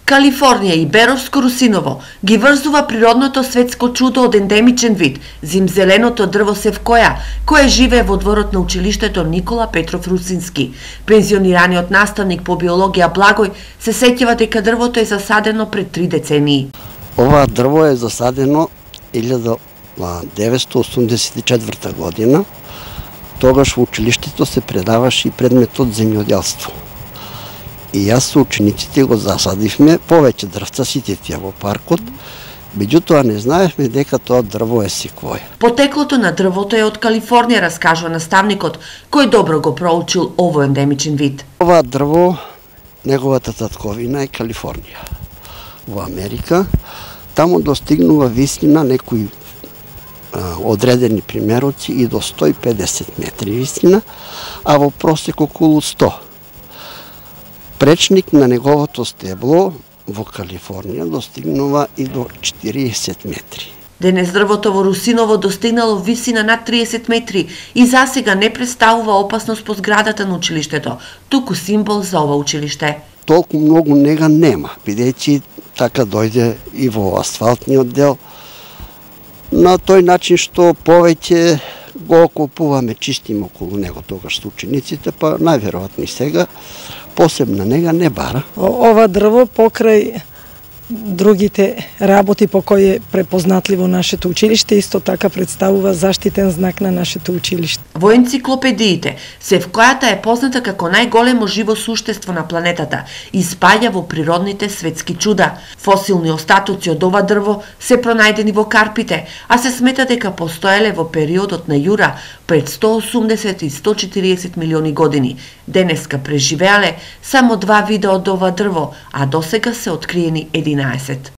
Калифорнија и Беровско русиново ги врзува природното светско чудо од ендемичен вид, зимзеленото дрво севкоја, кое живее во дворот на училиштето Никола Петров Русински. Пензионираниот наставник по биологија Благој се сеќава дека дрвото е засадено пред 3 децении. Ова дрво е засадено 1984 година. Тогаш во училиштето се предаваше и предметот земјоделство. И јас со учениците го засадивме повеќе дрвца, сите тие во паркот, меѓутоа не знаевме дека тоа дрво е секвоја. Потеклото на дрвото е од Калифорнија, раскажува наставникот, кој добро го проучил овој ендемичен вид. Ова дрво, неговата татковина е Калифорнија. Во Америка, таму достигнува висина некои одредени примероци и до 150 метри висина, а во просек околу 100. Пречник на неговото стебло во Калифорнија достигнува и до 40 метри. Денес дрвото во Русиново достигнало висина над 30 метри и засега не представува опасност по зградата на училиштето, туку символ за ова училиште. Толку многу нега нема, бидејќи така дојде и во асфалтниот дел, на тој начин што повеќе го окупуваме, чистим околу него тогаш со учениците, па најверојатно и сега посебна нега не бара. Ова дрво покрај другите работи по кои е препознатливо нашето училиште, исто така представува заштитен знак на нашето училиште. Во енциклопедиите, севкојата е позната како најголемо живо суштество на планетата и спаѓа во природните светски чуда. Фосилни остатоци од ова дрво се пронајдени во Карпите, а се смета дека постоеле во периодот на Јура пред 180 и 140 милиони години. Денеска преживеале само 2 вида од ова дрво, а досега се откриени 11.